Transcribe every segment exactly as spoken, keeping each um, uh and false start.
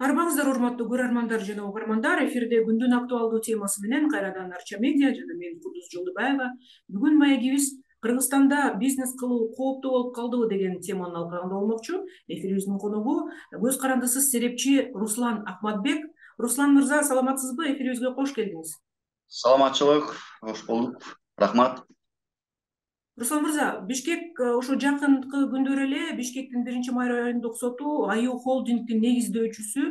Арбаңыздар, урматтуу көрөрмандар жана угармандар, эфирде күндүн актуалдуу темасы менен кайрадан Арча медиа жана мен Кудус Жолдубаева. Бүгүн маегибиз Кыргызстанда бизнес кылуу кооптуу болуп калдыбы деген теманын алкагында болмокчу. Эфирибиздин коногу көз карандысыз серепчи Руслан Акматбек. Руслан мырза, саламатсызбы? Эфирибизге кош келдиңиз. Саламатчылык, кош болдук. Рахмат. Руслан мырза, Бишкек ошо жакынкы күндөр эле Бишкектин биринчи май райондук соту Аю холдингдин негиздөөчүсү,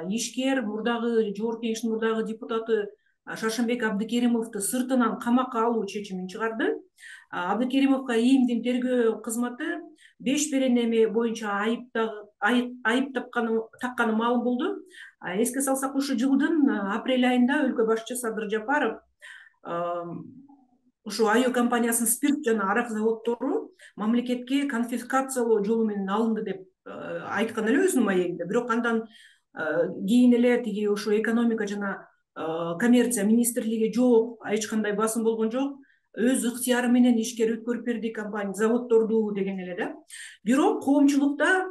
ишкер, мурдагы жогорку кеңештин мурдагы депутаты Шаршембек Абдыкеримовду сыртынан камакка алуу чечимин чыгарды. Абдыкеримовго ИИМдин тергөө кызматы беш беренеме боюнча айып такканы маалым болду. Эске салсак, ушул жылдын апрель айында өлкө башчы Садыр Жапаров ушу Аю компаниясынын спирт жана арак заводдору мамлекетке конфискациялоо жолу менен алынды деп айткан эле өзүнүн маегинде. Бирок андан кийин эле тиги ушу экономика жана коммерция министрлиги жок, эч кандай басым болгон жок, өз ыктыяры менен ишкер өткөрүп берди компания заводдорду деген эле да. Бирок коомчулукта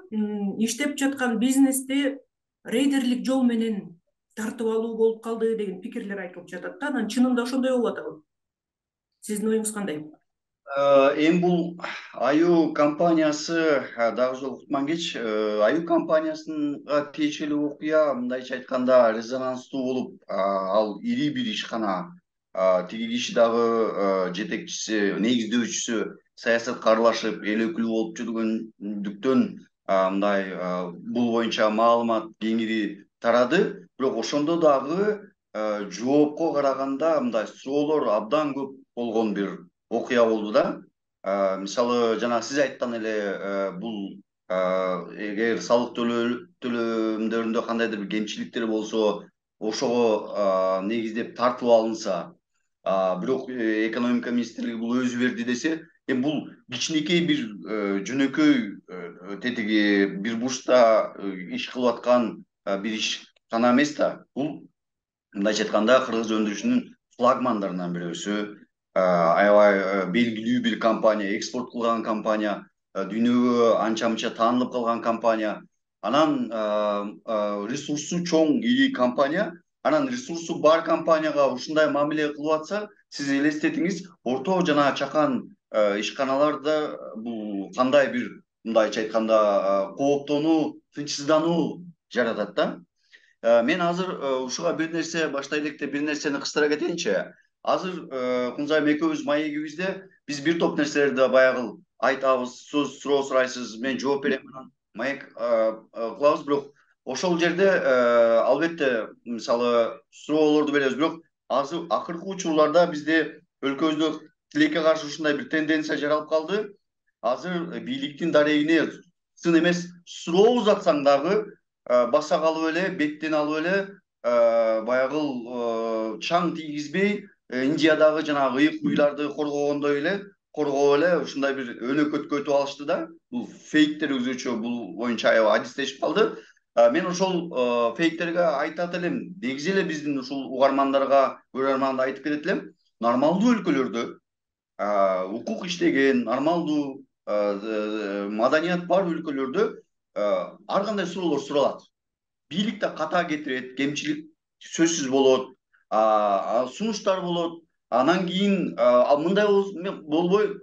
иштеп жаткан бизнести рейдерлик жол менен тартып алуу болуп калды деген пикирлер айтылып жатат да. Анан чынында ошондой болуп атабы? Сиздин оюңуз кандай? Эми бул Аю компаниясы дагы жолу кутман кеч. Аю компаниясынга тиешелүү окуя мындайча айтканда резонанстуу болуп, ал ири бир ишкана. Тиги киши дагы жетекчиси, негиздөөчүсү саясатка аралашып, эл өкүлү болуп жүргөндүктөн мындай бул боюнча маалымат кеңири тарады. Бирок ошондо дагы жоопко караганда мындай суроолор абдан көп болгон бир окуя болду да. Мисалы, жана сиз айткан эле бул эгер салык төлөмдөрүндө кандайдыр бир кемчиликтер болсо, ошого негиздеп тартылып алынса, бирок экономика министрлиги бул өзү берди десе, эми бул кичинекей бир жөнөкөй тетиги бир бурчта иш кылып аткан бир ишкана эмес да. Бул мындайча айтканда кыргыз өндүрүшүнүн флагмандарынан бирөөсү, аябай белгилүү бир компания, экспорт кылган компания, дүйнөгө анча мынча таанылып калган компания. Анан ресурсу чоң ири компания. Анан ресурсу бар компанияга ушундай мамиле кылып атса, сиз элестетиңиз, орто жана чакан ишканаларда бул кандай бир мындайча айтканда кооптонуу, тынчсыздануу жаратат да. Мен азыр ушуга бир нерсе баштай электе бир нерсени кыстыра кетейинчи. Азыр Кунзайым экөөбүз маегибизде биз бир топ нерселерди баягы айтабыз, сөз суроо сурайсыз, мен жооп берем, анан маек кылабыз. Бирок ошол жерде албетте мисалы суроолорду беребиз. Бирок азыр акыркы учурларда бизде өлкөбүздө тилекке каршы ушундай бир тенденция жаралып калды. Азыр бийликтин дарегине сын эмес суроо узатсаң дагы баса калып эле, беттен алып эле, баягы чаң тийгизбей, Индиядагы жанагы ыйык уйларды коргогондой эле коргоп эле ушундай бир өнөкөткө өтүп алышты да. Бул фейктер өзүчө бул боюнча аябай адистешип калды. Мен ошол фейктерге айтат элем, негизи эле биздин ушул угармандарга, көрөрмандарга айтып кетет элем, нормалдуу өлкөлөрдө, укук иштеген, нормалдуу маданият бар өлкөлөрдө ар кандай суроолор суралат. Бийлик да ката кетирет, кемчилик сөзсүз болот, сунуштар болот. Анан кийин мындай болбой,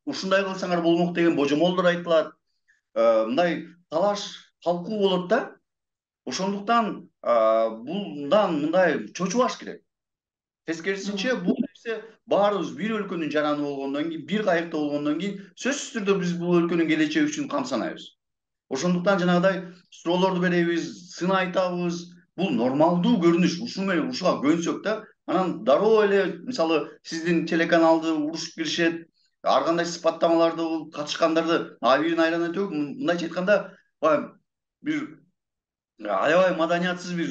ушундай кылсаңар болмок деген божомолдор айтылат. Мындай талаш талкуу болот да. Ошондуктан булдан мындай чочубаш керек. Тескерисинче бул нерсе баарыбыз бир өлкөнүн жараны болгондон кийин, бир кайыкта болгондон кийин сөзсүз түрдө биз бул өлкөнүн келечеги үчүн камсанайбыз. Ошондуктан жанагыдай суроолорду беребиз, сын айтабыз. Бул нормалдуу көрүнүш. Ушул менен ушуга көнсөк да, анан дароо эле мисалы сиздин телеканалды урушуп киришет, ар кандай сыпаттамаларды катышкандарды абийирин айлана төгүп, мындайча айтканда баягы бир аябай маданиятсыз бир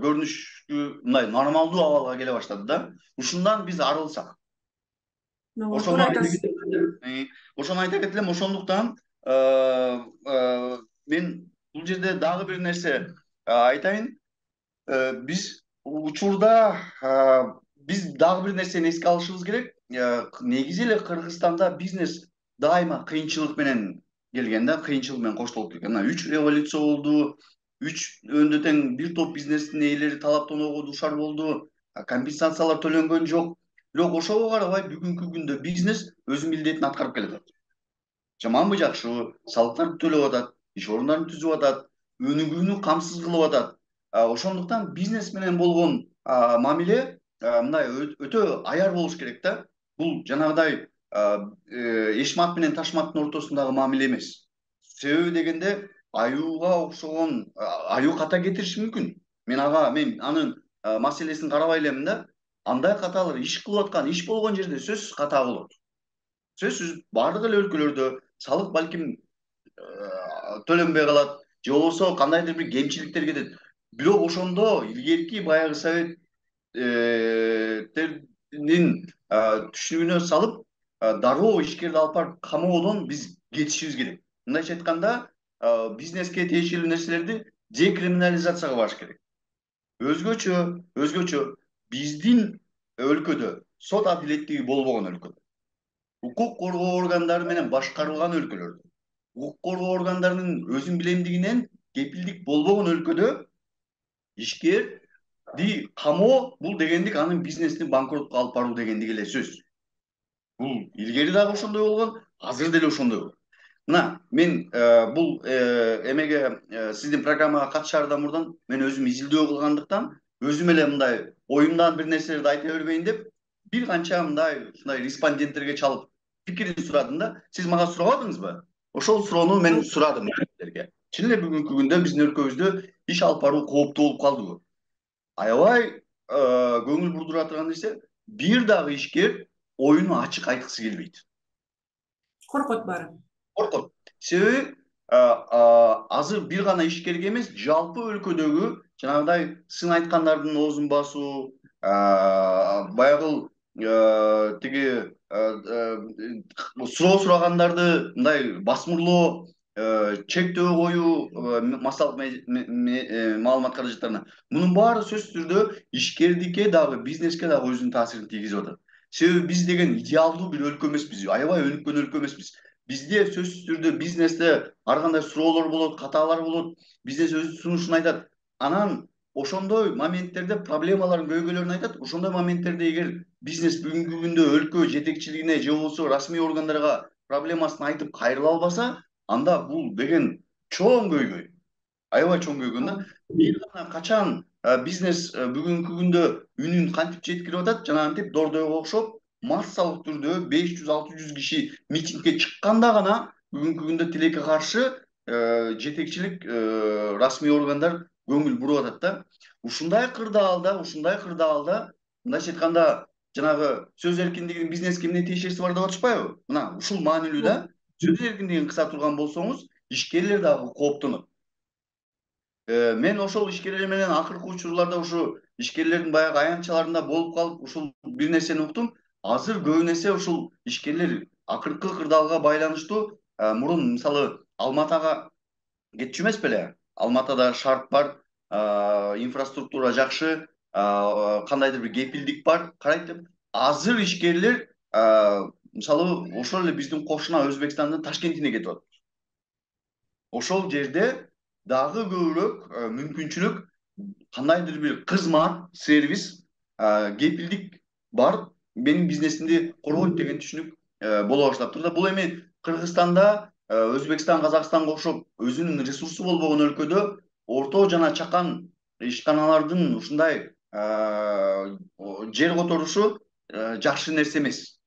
көрүнүшкө, мындай нормалдуу абалга келе баштады да. Ушундан биз арылсак. Ошону ошону айта кетелем. Ошондуктан мен бул жерде дагы бир нерсе айтайын. Биз учурда биз дагы бир нерсени эске алышыбыз керек. Негизи эле Кыргызстанда бизнес дайыма кыйынчылык менен келген да, кыйынчылык менен коштолуп келген. Мына үч революция болду, үч өндө тең бир топ бизнестин ээлери талаптоонууга дуушар болду. Компенсациялар төлөнгөн жок. Бирок ошого карабай бүгүнкү күндө бизнес өзүнүн милдетин аткарып келатат. Жаманбы жакшыбы, салыктарды төлөп атат, иш орундарын түзүп атат, өнүгүүнү камсыз кылып атат. Ошондуктан бизнес менен болгон мамиле мындай өтө аяр болуш керек да. Бул жанагыдай эшмат менен ташматтын ортосундагы мамиле эмес. Себеби дегенде аюуга окшогон аюу ката кетириши мүмкүн. Мен ага мен анын маселесин карабай элемин да. Андай каталар иш кылып аткан, иш болгон жерде сөзсүз ката болот. Сөзсүз бардык эле өлкөлөрдө салык балким төлөнбөй калат, же болбосо кандайдыр бир кемчиликтер кетет. Бирок ошондо илгерки баягы советтердин түшүнүгүнө салып, дароо ишкерди алып барып камоодон биз кетишибиз керек. Мындайча айтканда, бизнеске тиешелүү нерселерди декриминализацияга барыш керек. Өзгөчө, өзгөчө биздин өлкөдө сот адилеттиги болбогон өлкөдө, укук коргоо органдары менен башкарылган өлкөлөрдө, укук коргоо органдарынын өзүн билемдигинен кепилдик болбогон өлкөдө ишкерди камоо бул дегендик анын бизнесин банкротко алып баруу дегендик эле сөз. Бул илгери дагы ошондой болгон, азыр деле ошондой болот. Мына, мен бул эмеге сиздин программага катышаардан мурдун мен өзүм изилдөө кылгандыктан, өзүм эле мындай оюмдан бир нерселерди айта бербейин деп, бир канча мындай ушундай респонденттерге чалып пикирин сурадым да. Сиз мага сурабадыңызбы? Ошол суроону мен сурадым силерге. Чын эле бүгүнкү күндө биздин өлкөбүздө иш алып баруу кооптуу болуп калдыбы? Аябай көңүл бурдура турган нерсе, бир дагы ишкер оюну ачык айткысы келбейт. Коркот баары. Коркот. Себеби азыр бир гана ишкерге эмес, жалпы өлкөдөгү жанагыдай сын айткандардын оозун басуу, баягы тиги суроо сурагандарды мындай басмырлоо, чектөө коюу массалык маалымат каражаттарына. Мунун баары сөзсүз түрдө ишкердикке дагы, бизнеске дагы өзүнүн таасирин тийгизип атат. Себеби биз деген идеалдуу бир өлкө эмеспиз, аябай өнүккөн өлкө эмеспиз. Бизде сөзсүз түрдө бизнесте ар кандай суроолор болот, катаалар болот. Бизнес өз сунушун айтат. Анан ошондой моменттерде проблемаларын, көйгөйлөрүн айтат. Ошондой моменттерде эгер бизнес бүгүнкү күндө өлкө жетекчилигине же болбосо расмий органдарга проблемасын айтып кайрыла албаса, анда бул деген чоң көйгөй. Аябай чоң көйгөй да. Бир гана качан бизнес бүгүнкү күндө үнүн кантип жеткирип атат, жанагынтип Дордойго окшоп массалык түрдө беш жүз алты жүз киши митингге чыкканда гана бүгүнкү күндө тилекке каршы жетекчилик, расмий органдар көңүл буруп атат да. Ушундай кырдаалда, ушундай кырдаалда, мындайча айтканда, жанагы сөз эркиндигинин бизнеске эмне тиешеси бар деп атышпайбы? Мына ушул маанилүү да. Сөз эркиндигин кыса турган болсоңуз, ишкерлер дагы кооптонот. Мен ошол ишкерлер менен акыркы учурларда ушу ишкерлердин баягы аянтчаларында болуп калып, ушул бир нерсени уктум. Азыр көбүнесе ушул ишкерлер акыркы кырдаалга байланыштуу, мурун мисалы Алматага кетчү эмес беле? Алматада шарт бар, инфраструктура жакшы, кандайдыр бир кепилдик бар, карайт деп. Азыр ишкерлер мисалы ошол эле биздин кошуна Өзбекстандын Ташкентине кетип атат. Ошол жерде дагы көбүрөөк мүмкүнчүлүк, кандайдыр бир кызмат, сервис, кепилдик бар, менин бизнесимди коргойт деген түшүнүк боло баштап турду. Бул эми Кыргызстанда, Өзбекстан, Казакстанга окшоп өзүнүн ресурсу болбогон өлкөдө орто жана чакан ишканалардын ушундай жер которушу жакшы нерсе эмес.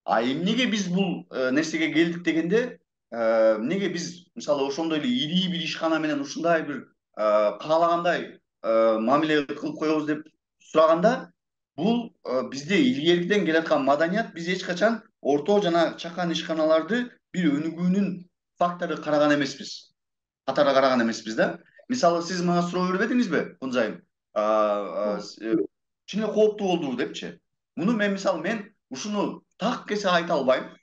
А эмнеге биз бул нерсеге келдик дегенде, эмнеге биз мисалы ошондой эле ири бир ишкана менен ушундай бир каалагандай мамиле кылып коебуз деп сураганда, бул бизде илгеркиден келаткан маданият. Биз эч качан орто жана чакан ишканаларды бир өнүгүүнүн фактору караган эмеспиз. Катары караган эмеспиз да. Мисалы сиз мага суроо бербедиңизби, Кунзайым? Чын эле кооптуу болдубу депчи. Муну мен мисалы мен ушуну так кесе айта албайм.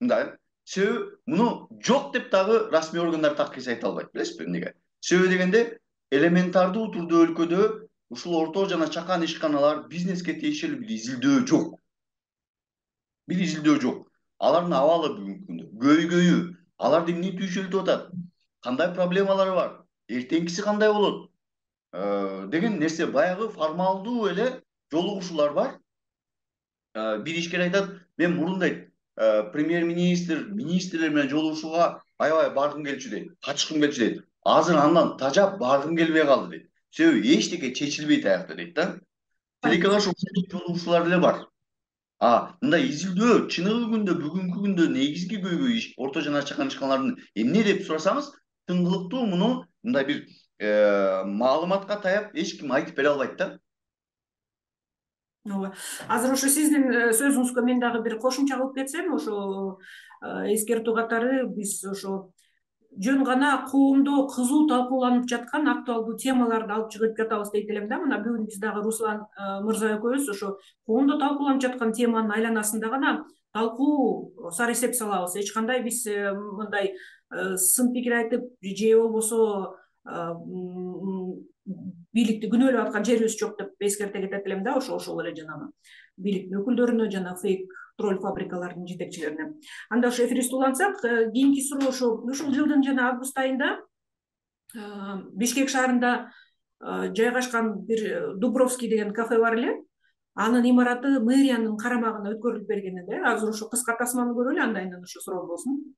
Мындай. Себеби муну жок деп дагы расмий органдар так кесе айта албайт. Билесизби эмнеге? Себеби дегенде элементардуу турдуу өлкөдө ушул орто жана чакан ишканалар бизнеске тиешелүү бир изилдөө жок. Бир изилдөө жок. Алардын абалы бүгүнкү күндө, көйгөйү, аларды эмне түйшөлтүп атат, кандай проблемалары бар, эртеңкиси кандай болот деген нерсе баягы формалдуу эле жолугушуулар бар. Бир ишкер айтат, мен мурун дейт премьер-министр, министрлер менен жолугушууга аябай баргым келчү дейт, катышкым келчү дейт. Азыр андан тажап баргым келбей калды дейт. Себеби эчтеке чечилбейт аякта дейт да. Тилекке каршы ушул жолугушуулар эле бар. А мындай изилдөө чыныгы күндө бүгүнкү күндө негизги көйгөй орто жана чакан ишканалардын эмне деп сурасаңыз, тыңгылыктуу муну мындай бир маалыматка таяп эч ким айтып бере албайт да. ооба. Азыр ошо сиздин сөзүңүзгө мен дагы бир кошумча кылып кетсем, ошо эскертүү катары биз ошо жөн гана коомдо кызуу талкууланып жаткан актуалдуу темаларды алып чыгып жатабыз дейт элем да. Мына бүгүн биз дагы Руслан мырза экөөбүз ошо коомдо талкууланып жаткан теманын айланасында гана талкуу сар эсеп салабыз. Эч кандай биз мындай сын пикир айтып же болбосо бийликти күнөөлөп аткан жерибиз жок деп эскерте кетет элем да, ошо ошол эле жанагы бийликтин өкүлдөрүнө жана фейк тролль фабрикалардын жетекчилерине. Анда ошо эфирибизди улантсак, кийинки суроо ошо ушул жылдын жана август айында Бишкек шаарында жайгашкан бир Дубровский деген кафе бар эле. Анын имараты мэриянын карамагына өткөрүлүп берген эле. Азыр ошо кыска тасманы көрөлү, андайынан ошо суроо болсун.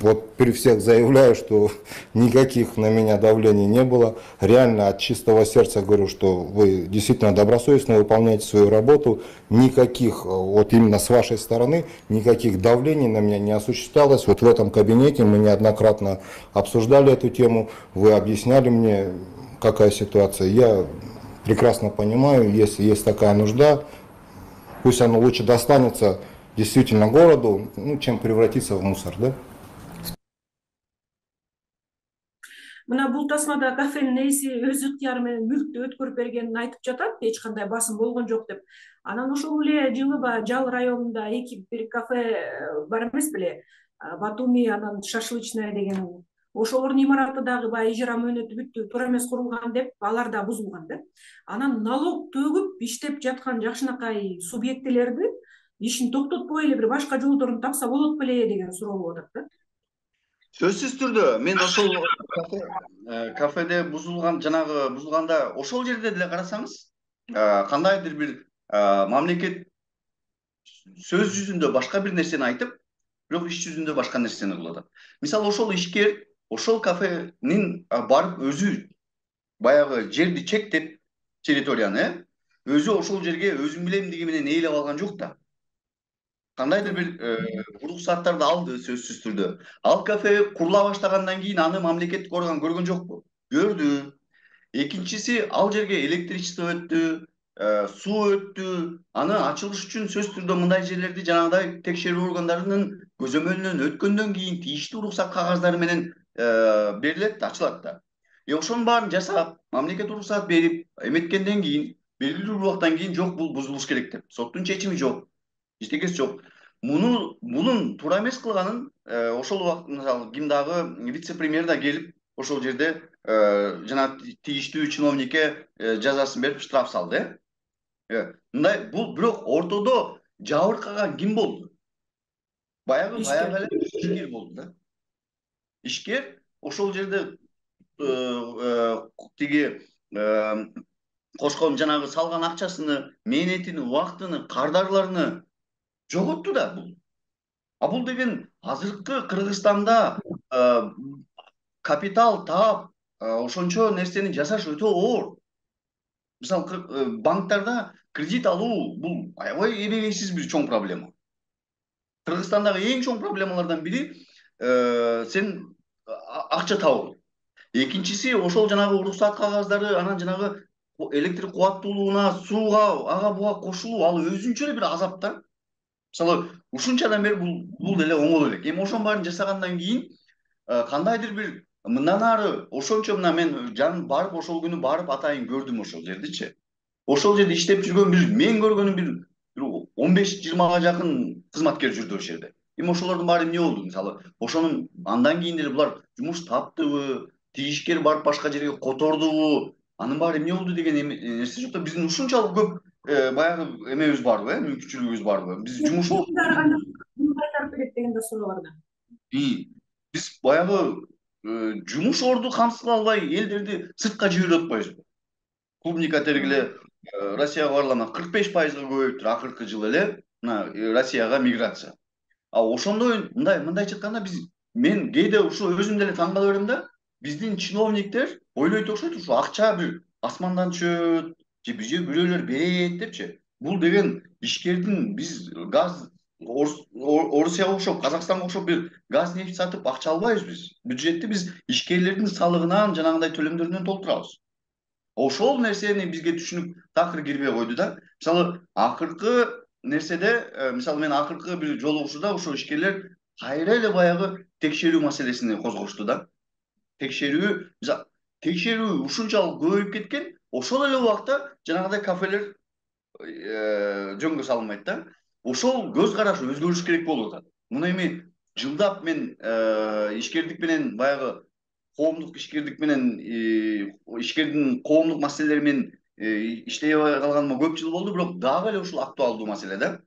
Вот при всех заявляю, что никаких на меня давлений не было. Реально от чистого сердца говорю, что вы действительно добросовестно выполняете свою работу. Никаких, вот именно с вашей стороны, никаких давлений на меня не осуществлялось. Вот в этом кабинете мы неоднократно обсуждали эту тему. Вы объясняли мне, какая ситуация. Я прекрасно понимаю, если есть такая нужда, пусть оно лучше достанется действительно городу, ну, чем превратиться в мусор, да? Мына бул тасмада кафенин ээси өз ыктыяры менен мүлктү өткөрүп бергенин айтып жатат, эч кандай басым болгон жок деп. Анан ошол эле жылы баягы Жал районунда эки бир кафе бар эмес беле, Батуми, анан Шашлычная деген. Ошолордун имараты дагы баягы ижара мөөнөтү бүттү, туура эмес курулган деп, алар да бузулган да. Анан налог төгүп иштеп жаткан жакшынакай субъектилерди ишин токтотпой эле бир башка жолдорун тапса болот беле деген суроо болуп атат да. Сөзсүз түрдө мен ошол кафеде бузулган жанагы бузулганда ошол жерде деле карасаңыз, кандайдыр бир мамлекет сөз жүзүндө башка бир нерсени айтып, бирок иш жүзүндө башка нерсени кылып атат. Мисалы ошол ишкер ошол кафенин барып өзү баягы жерди чектеп, территорияны өзү ошол жерге өзүм билемдиги менен ээлеп алган жок да. Кандайдыр бир уруксаттарды алды сөзсүз түрдө. Ал кафе курула баштагандан кийин аны мамлекеттик орган көргөн жокпу? Көрдү. Экинчиси, ал жерге электричество өттү, суу өттү. Аны ачылыш үчүн сөзсүз түрдө мындай жерлерди жанагыдай текшерүү органдарынын көзөмөлүнөн өткөндөн кийин тийиштүү уруксат кагаздары менен берилет да, ачылат да. Е ошонун баарын жасап, мамлекет уруксат берип, эметкенден кийин белгилүү бир убакыттан кийин жок, бул бузулуш керек деп. Соттун чечими жок. Эчтекеси жок. Муну мунун туура эмес кылганын ошол убакыт мисалы ким дагы вице-премьер да келип ошол жерде жана тийиштүү чиновникке жазасын берип штраф салды. Э мындай бул бирок ортодо жабыркаган ким болду? Баягы баягы эле ишкер болду да. Ишкер ошол жерде тиги кошкон жанагы салган акчасыны, мээнетин, убактыны, кардарларını жоготту да бул. А бул деген азыркы Кыргызстанда капитал таап, ошончо нерсени жасаш өтө оор. Мисалы банктарда кредит алуу бул аябай эбегейсиз бир чоң проблема. Кыргызстандагы эң чоң проблемалардан бири сен акча табуу. Экинчиси ошол жанагы уруксат кагаздары, анан жанагы электр кубаттуулугуна, сууга, ага буга кошулуу, ал өзүнчө эле бир азап да. Мисалы ушунчадан бери бул бул деле оңой элек. Эми ошонун баарын жасагандан кийин кандайдыр бир мындан ары ошончо мына мен жан барып ошол күнү барып атайын көрдүм ошол жердичи. Ошол жерде иштеп жүргөн бир мен көргөнүм бир он беш жыйырмага жакын кызматкер жүрдү ошол жерде. Эми ошолордун баары эмне болду? Мисалы ошонун андан кийин деле булар жумуш таптыбы, тийишкер барып башка жерге котордубу, анын баары эмне болду деген нерсе жок да. Биздин ушунчалык көп баягы эмебиз барбы, э, мүмкүнчүлүгүбүз барбы? Биз жумуш кайтарып берет деген да суроо бар да. Биз баягы жумуш орду камсыз кыла албай элдерди сыртка жиберип атпайбызбы? Клубника тергиле Россияга барлама кырк беш пайызга көбөйүптүр акыркы жылы эле мына Россияга миграция. А ошондой мындай мындайча айтканда биз мен кээде ушу өзүм деле таң кала берем да, биздин чиновниктер ойлойт окшойт ушу акча бир асмандан түшөт же бизге бирөөлөр берет депчи. Бул деген ишкердин биз газ Орусияга окшоп, Казакстанга окшоп бир газ нефть сатып акча албайбыз биз. Бюджетти биз ишкерлердин салыгынан жанагындай төлөмдөрүнөн толтурабыз. Ошол нерсени бизге түшүнүп такыр кирбей койду да. Мисалы акыркы нерседе, мисалы мен акыркы бир жолугушууда ошо ишкерлер кайра эле баягы текшерүү маселесин козгошту да. Текшерүү, текшерүү ушунчалык көбөйүп кеткен, ошол эле убакта жанагындай кафелер жөнгө салынбайт да. Ошол көз караш өзгөрүш керек болуп атат. Муну эми жылдап мен ишкердик менен баягы коомдук ишкердик менен ишкердин коомдук маселелери менен иштей калганыма көп жыл болду, бирок дагы эле ушул актуалдуу маселе да.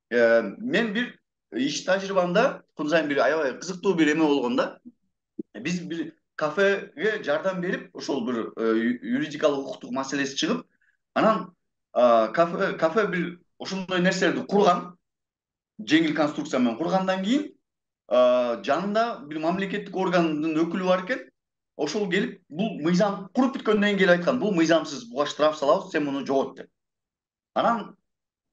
Мен бир иш тажрыйбамда күн сайын бир аябай кызыктуу бир эме болгондо, биз бир кафеге жардам берип, ошол бир юридикалык укуктук маселеси чыгып, анан кафе кафе бир ошондой нерселерди курган, жеңил конструкция менен кургандан кийин жанында бир мамлекеттик органдын өкүлү бар экен. Ошол келип, бул мыйзам куруп бүткөндөн кийин келип айткан, бул мыйзамсыз, буга штраф салабыз, сен муну жогот деп. Анан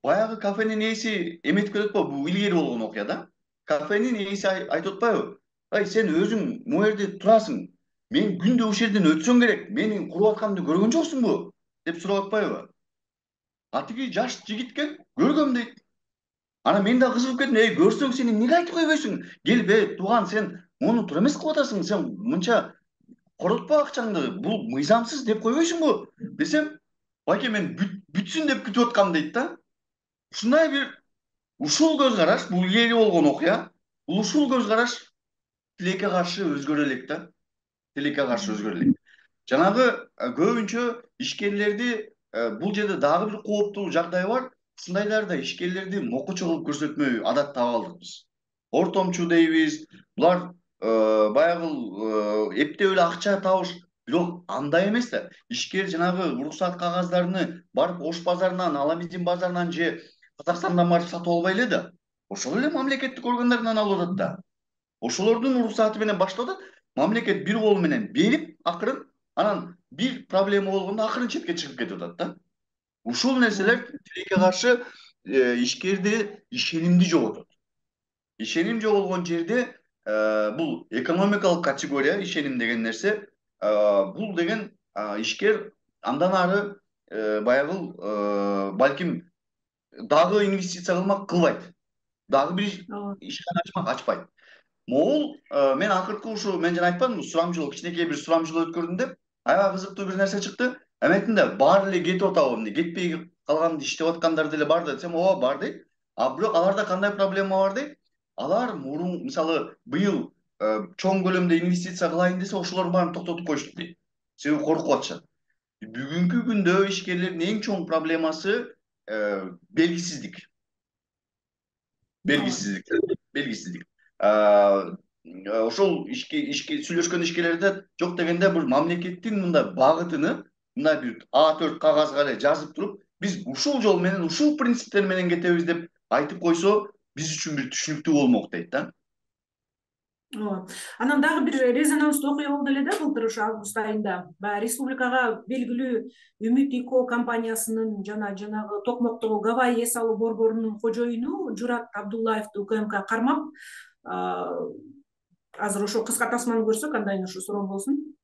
баягы кафенин ээси эметип кетип атпайбы, бул илгери болгон окуя да. Кафенин ээси айтып атпайбы? Ай, сен өзүң могу жерде турасың. Мен күндө ушул жерден өтсөң керек. Менин куруп атканымды көргөн жоксуңбу? деп сурап атпайбы? А тиги жаш жигитке көргөм дейт. Ана мен да кызыгып кеттим. Эй, көрсөң сен эмнеге айтып койбойсуң? Келип, эй, тууган, сен муну туура эмес кылып атасың. Сен мынча коротпо акчаңды. Бул мыйзамсыз деп койбойсуңбу? Десем, байке мен бүтсүн деп күтүп аткам дейт да. Ушундай бир ушул көз караш, бул илгери болгон окуя. Бул ушул көз караш тилекке каршы өзгөрө элек да. Тилекке каршы өзгөрө элек. Жанагы көбүнчө ишкерлерди бул жерде дагы бир кооптуу жагдай бар. Ушундайларда ишкерлерди мокучу кылып көрсөтмөй адат таап алдык биз. Ортомчу дейбиз. Булар баягы эптеп эле акча табыш, бирок андай эмес да. Ишкер жанагы уруксат кагаздарыны барып Ош базарынан, Аламедин базарынан же Казакстандан барып сатып албай эле да. Ошол эле мамлекеттик органдарынан алып атат да. Ошолордун уруксаты менен баштап атат. Мамлекет бир кол менен берип акырын, анан бир проблема болгондо акырын четке чыгып кетип атат да. Ушул нерселер тилекке каршы ишкерди ишенимди жоготот. Ишеним жоголгон жерде бул экономикалык категория, ишеним деген нерсе, бул деген ишкер андан ары баягы балким дагы инвестиция кылмак кылбайт. Дагы бир ишкана ачмак ачпайт. Могул мен акыркы ушу мен жана айтпадымбы, сурамжылоо, кичинекей бир сурамжылоо өткөрдүм деп, аябай кызыктуу бир нерсе чыкты. Эметинде баары эле кетип атабы, эмне кетпей калганды иштеп аткандар деле бар десем, ооба бар дейт. А бирок аларда кандай проблема бар дейт? Алар мурун мисалы быйыл чоң көлөмдө инвестиция кылайын десе, ошолордун баарын токтотуп коюштук дейт. Себеби коркуп атышат. Бүгүнкү күндө ишкерлердин эң чоң проблемасы белгисиздик. Белгисиздик, белгисиздик. Ошол ишке ишке сүйлөшкөн ишкерлерде жок дегенде бир мамлекеттин мындай багытыны мындай бир А төрт кагазга эле жазып туруп, биз ушул жол менен, ушул принциптер менен кетебиз деп айтып койсо, биз үчүн бир түшүнүктүү болмок дейт да. Ооба. Анан дагы бир резонанстуу окуя болду эле да былтыр ошо август айында. Баягы республикага белгилүү Үмүт ИКО компаниясынын жана жанагы Токмоктогу Гавайи эс алуу борборунун кожоюну Журат Абдуллаевди УКМК кармап, азыр ошо кыска тасманы көрсөк, андайын ошо суроо болсун.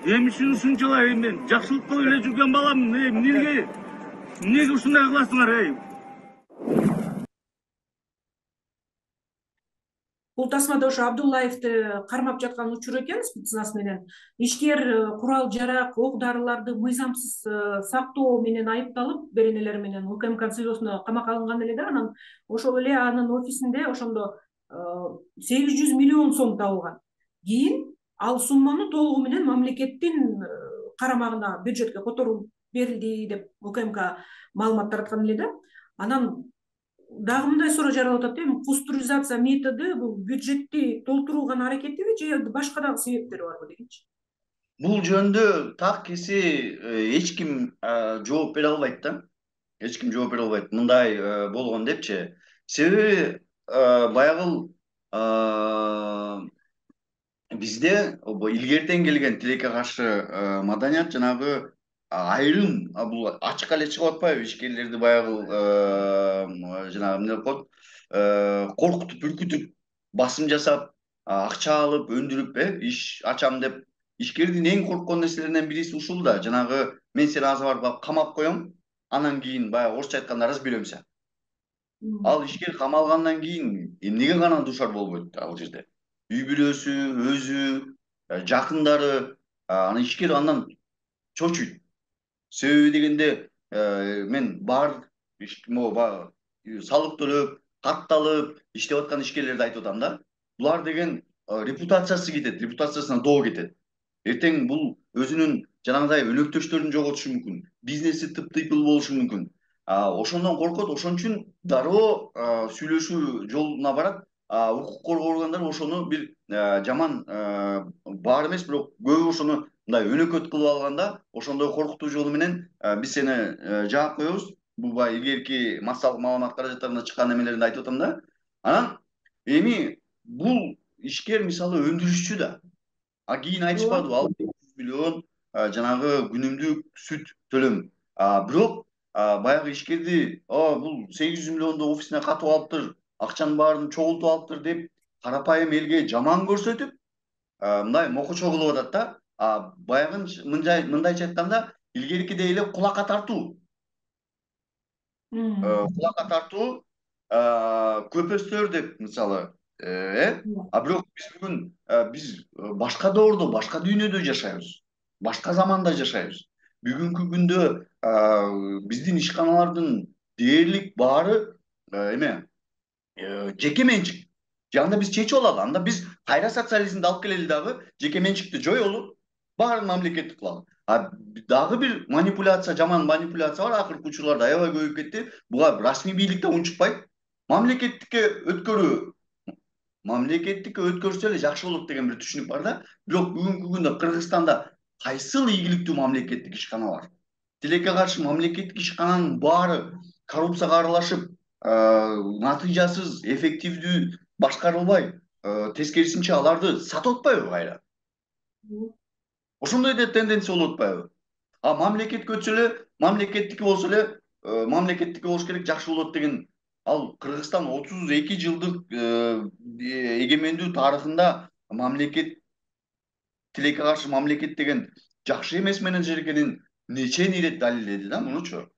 Эми ушунчалай мен жакшылыкка эле жүргөн балам, эмнеге эмнеге ушундай кыласыңар, эй? Бул тасмада ошо Абдуллаевди кармап жаткан учур экен, спецназ менен. Ишкер курал жарак, ок дарыларды мыйзамсыз сактоо менен айыпталып, беренелер менен УКМК СИЗОсуна камакка алынган эле да. Анан ошол эле анын офисинде ошондо сегиз жүз миллион сом табылган. Кийин ал сумманы толугу менен мамлекеттин карамагына, бюджетке которуп берилди деп УКМК маалымат тараткан эле да. Анан дагы мындай суроо жаралып атат, эми кустуризация методу бул бюджетти толтурууга аракетиби же башка дагы себептери барбы дегенчи? Бул жөнүндө так кеси эч ким жооп бере албайт да. Эч ким жооп бере албайт. Мындай болгон депчи. Себеби баягы бизде илгертен келген тилекке каршы маданият жанагы айрым бул ачыкка эле чыгып атпайбы, ишкерлерди баягы жанагы эмне деп коет, коркутуп, үркүтүп, басым жасап, акча алып, өндүрүп, э, иш ачам деп. Ишкердин эң корккон нерселеринен бириси ушул да, жанагы мен сени азыр барып камап коем, анан кийин баягы орусча айтканда разберемся. Ал ишкер камалгандан кийин эмнеге гана дуушар болбойт ал жерде. Үй бүлөсү, өзү, жакындары, анан ишкер андан чочуйт. Себеби дегенде мен бар могу салык төлөп, катталып иштеп аткан ишкерлерди айтып атам да. Булар деген репутациясы кетет, репутациясына доо кетет. Эртең бул өзүнүн жанагындай өнөктөштөрүн жоготушу мүмкүн, бизнеси тыптыйпыл болушу мүмкүн. Ошондон коркот, ошон үчүн дароо сүйлөшүү жолуна барат. Укук коргоо органдары ошону бир жаман бар эмес, бирок көбү ошону мындай өнөкөт кылып алганда, ошондой коркутуу жолу менен биз сени жаап коебуз. Бул баягы илгерки массалык маалымат каражаттарында чыккан эмелеринде айтып атам да. Анан эми бул ишкер мисалы өндүрүшчү да. А кийин айтышпадыбы, ал жүз миллион жанагы күнүмдүк сүт төлөм. Бирок баягы ишкерди бул сегиз жүз миллионду офисине катып алыптыр, акчанын баарын чогултуп алыптыр деп карапайым элге жаман көрсөтүп, мындай мокочо кылып атат да. Баягы мындайча айтканда, илгеркидей эле кулакка тартуу. Кулакка тартуу, көпөстөр деп мисалы, э? А бирок биз бүгүн биз башка доордо, башка дүйнөдө жашайбыз. Башка заманда жашайбыз. Бүгүнкү күндө биздин ишканалардын дээрлик баары эме жеке менчик. Анда биз чечип алалы. Анда биз кайра социализмди алып келели дагы, жеке менчикти жоёлу, баарын мамлекеттик кылалы. А дагы бир манипуляция, жаман манипуляция бар, акыркы учурларда аябай көбөйүп кетти. Буга расмий бийликтен унчукпайт. Мамлекеттикке өткөрүү, мамлекеттикке өткөрсө эле жакшы болот деген бир түшүнүк бар да. Бирок бүгүнкү күндө Кыргызстанда кайсыл ийгиликтүү мамлекеттик ишкана бар? Тилекке каршы мамлекеттик ишкананын баары коррупцияга аралашып, натыйжасыз, эффективдүү башкарылбай, тескерисинче аларды сатып атпайбы кайра? Ошондой да тенденция болуп атпайбы? А мамлекетке өтсө эле, мамлекеттики болсо эле, мамлекеттики болуш керек, жакшы болот деген. Ал Кыргызстан отуз эки жылдык эгемендүү тарыхында мамлекет, тилекке каршы мамлекет деген жакшы эмес менеджер экенин нечен ирет далилдеди да, мунучу.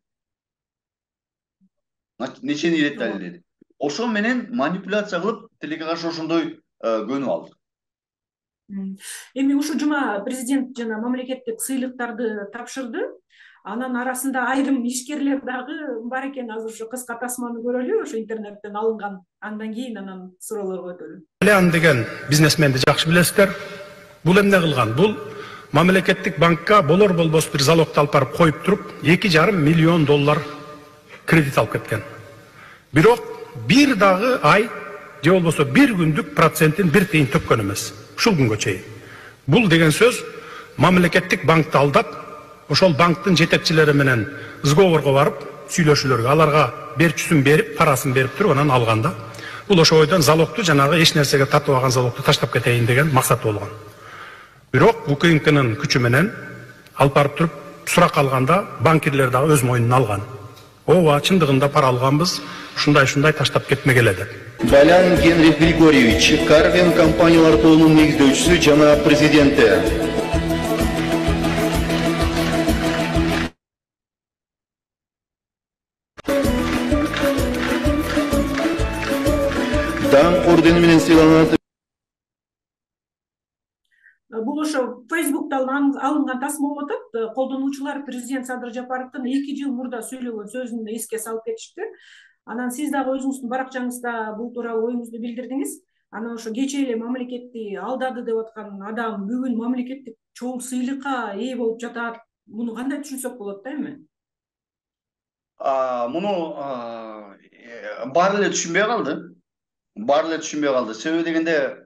Нечен ирет далилдеди. Ошо менен манипуляция кылып, тилекке каршы ошондой көнүп алды. Эми ушул жума президент жана мамлекеттик сыйлыктарды тапшырды. Анан арасында айрым ишкерлер дагы бар экен. Азыр ушу кыска тасманы көрөлү, ошо интернеттен алынган. Андан кийин анан суроолорго өтөлү. Алиан деген бизнесменди жакшы билесиздер. Бул эмне кылган? Бул мамлекеттик банкка болор болбос бир залогду алып барып коюп туруп, эки жарым миллион доллар кредит алып кеткен. Бирок бир дагы ай же болбосо бир күндүк процентин бир тыйын төккөн эмес. Ушул күнгө чейин. Бул деген сөз мамлекеттик банкты алдап, ошол банктын жетекчилери менен сговорго барып, сүйлөшүүлөргө, аларга берчүсүн берип, парасын берип туруп, анан алганда, бул ошо ойдон залогду жанагы эч нерсеге тартып алган залогду таштап кетейин деген максат болгон. Бирок УКМКнын күчү менен алып барып туруп, сурак алганда банкирлер дагы өз мойнуна алган. Ооба, чындыгында пара алганбыз, ушундай-ушундай таштап кетмегеле деп. Балян Генрих Григорьевич, Карвин компаниялар тобунун негиздөөчүсү жана президенти. Дан ордени менен сыйланат. Бул ошо Facebook'tan алынган тасма болуп атат. Колдонуучулар президент Садыр Жапаровдун эки жыл мурда сүйлөгөн сөзүн эске салып кетишти. Анан сиз дагы өзүңүздүн баракчаңызда бул тууралуу оюңузду билдирдиңиз. Анан ошо кечээ эле мамлекетти алдады деп аткан адам бүгүн мамлекеттик чоң сыйлыкка ээ болуп жатат. Муну кандай түшүнсөк болот да эми? муну баары эле түшүнбөй калды. Баары эле түшүнбөй калды. Себеби дегенде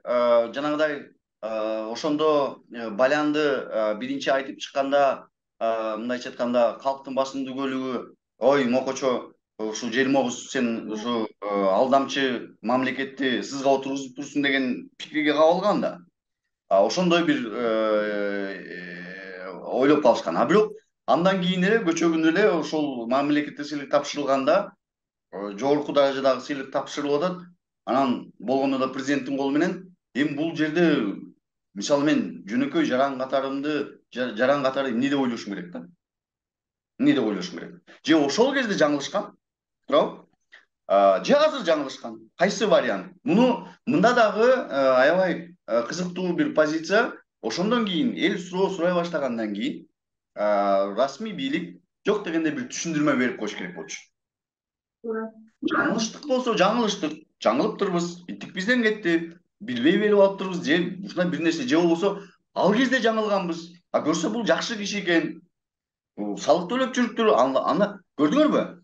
жанагыдай ошондо Балянды биринчи айтып чыкканда, мындайча айтканда, калктын басымдуу бөлүгү ой мокочо ушул жермогуз сен ушу алдамчы мамлекетти сызга отургузуп турсуң деген пикирге кабылган да. Ошондой бир ойлоп калышкан. А бирок андан кийин эле көчөгүндө эле ошол мамлекеттик сыйлык тапшырылганда, жогорку даражадагы сыйлык тапшырылып атат. Анан болгондо да президенттин колу менен эми бул жерде мисалы мен жөнөкөй жаран катарымды жаран катары эмне деп ойлошум керек да? Эмне деп ойлошум керек? Же ошол кезде жаңылышкан? Туурабы? Же азыр жаңылышкан? Кайсы вариант? Муну мында дагы аябай кызыктуу бир позиция. Ошондон кийин эл суроо сурай баштагандан кийин расмий бийлик жок дегенде бир түшүндүрмө берип коюш керек болчу. Жаңылыштык болсо жаңылыштык, жаңылыптырбыз, иттик бизден кетти, билбей берип алыптырбыз, же ушундай бир нерсе, же болбосо ал кезде жаңылганбыз. А көрсө бул жакшы киши экен. Салык төлөп жүрүптүр, аны көрдүңөрбү?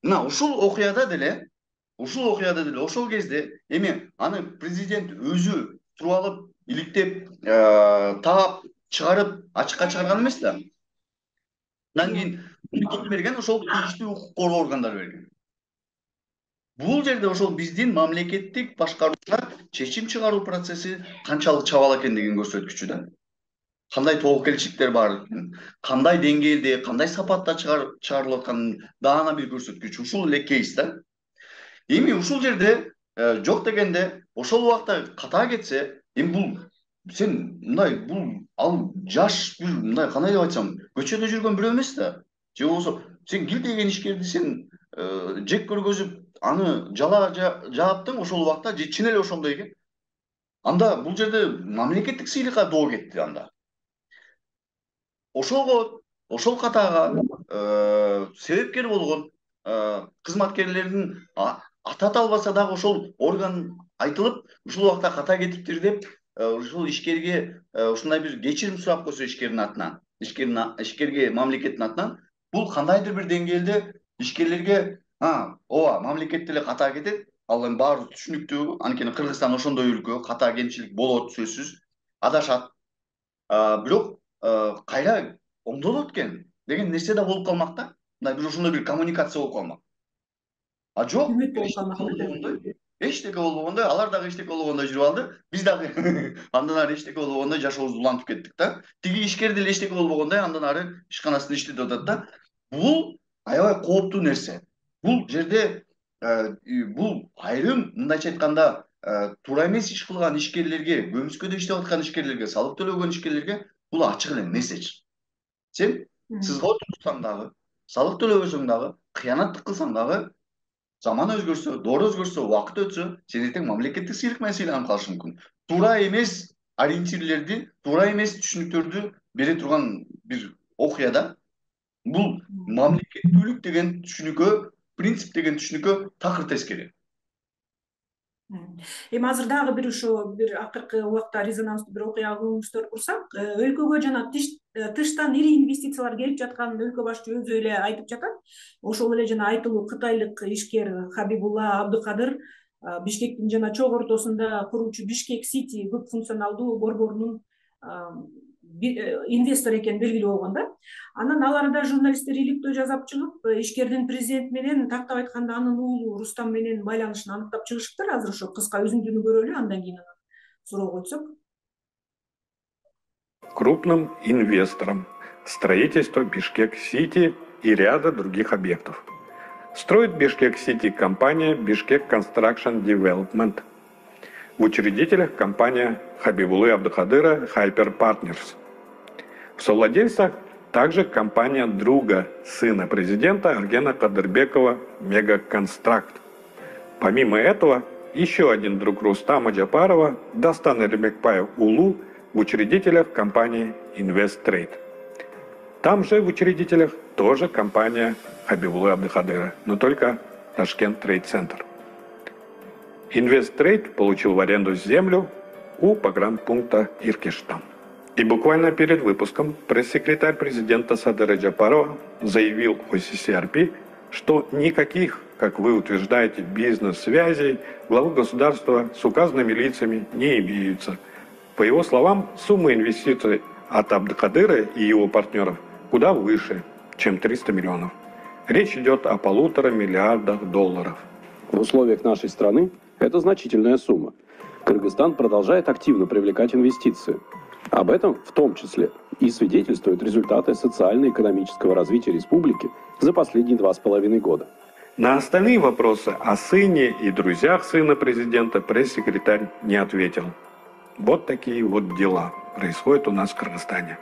Мына ушул окуяда деле, ушул окуяда деле ошол кезде эми аны президент өзү туруп алып, иликтеп, таап, чыгарып, ачыкка чыгарган эмес да. Андан кийин муну берген ошол тийиштүү укук коргоо органдары берген. Бул жерде ошол биздин мамлекеттик башкарууда чечим чыгаруу процесси канчалык чабал экендигин көрсөткүчү да. Кандай тобокелчиликтер бар, кандай деңгээлде, кандай сапатта чыгарылып атканын даана бир көрсөткүчү. Ушул эле кейс да. Эми ушул жерде жок дегенде ошол убакта ката кетсе, эми бул сен мындай бул ал жаш бир мындай кандай деп айтсам, көчөдө жүргөн бирөө эмес да. Же болбосо сен кил деген ишкерди сен жек көргөзүп, аны жала жааптың ошол убакта же чын эле ошондой экен. Анда бул жерде мамлекеттик сыйлыкка доо кетти анда. Ошого, ошол катага себепкер болгон кызматкерлердин ата албаса дагы ошол орган айтылып, ушул убакта ката кетиптир деп, ушул ишкерге ушундай бир кечирим сурап койсо ишкердин атынан, ишкерге мамлекеттин атынан, бул кандайдыр бир деңгээлде ишкерлерге а, ооба, мамлекет деле ката кетет, ал эми баары түшүнүктүү, анткени Кыргызстан ошондой өлкө, ката кемчилик болот сөзсүз, адашат. Бирок кайра оңдолот экен деген нерсе да болуп калмак да. Мындай бир ошондой бир коммуникация болуп калмак. А жок, эчтеке болбогондой, алар дагы эчтеке болбогондой жүрүп алды. Биз дагы андан ары эчтеке болбогондой жашообузду улантып кеттик да. Тиги ишкер деле эчтеке болбогондой андан ары ишканасында иштеп атат да. Бул аябай кооптуу нерсе. Бул жерде бул айрым мындайча айтканда туура эмес иш кылган ишкерлерге, көмүскөдө иштеп аткан ишкерлерге, салык төлөгөн ишкерлерге бул ачык эле месседж. Сен сызга отурсаң дагы, салык төлөбөсөң дагы, кыянаттык кылсаң дагы, заман өзгөрсө, доор өзгөрсө, убакыт өтсө, сен эртең мамлекеттик сыйлык менен сыйланып калышың мүмкүн. Туура эмес ориентирлерди, туура эмес түшүнүктөрдү бере турган бир окуяда бул мамлекеттүүлүк деген түшүнүккө, принцип деген түшүнүккө такыр тескери. Эми азыр дагы бир ошо бир акыркы убакта резонанстуу бир окуяга көңүл бурсак, өлкөгө жана тыштан ири инвестициялар келип жатканын өлкө башчы өзү эле айтып жатат. Ошол эле жана айтылуу кытайлык ишкер Хабибулла Абдыкадыр Бишкектин жана чок ортосунда куруучу Бишкек Сити көп функционалдуу борборунун инвестор экени белгилүү болгон да. Анан ал арада журналисттер иликтөө жасап чыгып, ишкердин президент менен тактап айтканда анын уулу Рустам менен байланышын аныктап чыгышыптыр. Азыр ошо кыска үзүндүнү көрөлү, андан кийин суроо койсок. Крупным инвестором строительство Бишкек-Сити и ряда других объектов. Строит Бишкек-Сити компания Бишкек Construction Development. В учредителях компания Хабибуллы Абдыкадыра Hyper Partners. В совладельцах также компания друга сына президента Аргена Кадырбекова Мегаконстракт. Помимо этого, еще один друг Рустама Джапарова Дастан Эрмекбаев Улу в учредителях компании Инвесттрейд. Там же в учредителях тоже компания Хабибуллы Абдыкадыра, но только Ташкент Трейд Центр. Инвесттрейд получил в аренду землю у погранпункта Иркиштан. И буквально перед выпуском пресс-секретарь президента Садыра Джапарова заявил о си си ар пи, что никаких, как вы утверждаете, бизнес-связей главы государства с указанными лицами не имеются. По его словам, сумма инвестиций от Абдыкадыра и его партнеров куда выше, чем триста миллионов. Речь идет о полутора миллиардах долларов. В условиях нашей страны это значительная сумма. Кыргызстан продолжает активно привлекать инвестиции. Об этом в том числе и свидетельствуют результаты социально-экономического развития республики за последние два с половиной года. На остальные вопросы о сыне и друзьях сына президента пресс-секретарь не ответил. Вот такие вот дела происходят у нас в Кыргызстане.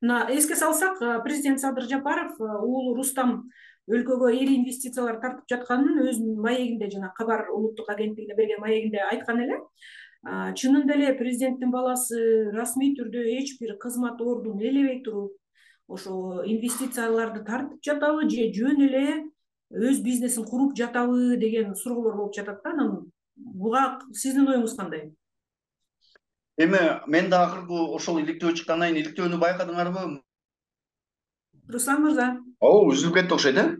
Эске салсак, президент Садыр Жапаров уулу Рустам өлкөгө ири инвестициялар тартып жатканын өзүнүн маегинде, жана Кабар улуттук агенттигине берген маегинде айткан эле. Чынында эле президенттин баласы расмий түрдө эч бир кызмат ордун ээлебей туруп, ошо инвестицияларды тартып жатабы же жөн эле өз бизнесин куруп жатабы деген суроолор болуп жатат да. Анан буга сиздин оюңуз кандай? Эми мен да акыркы ошол иликтөө чыккандан кийин иликтөөнү байкадыңарбы? Руслан мырза. Оо, үзүлүп кетти окшойт, э?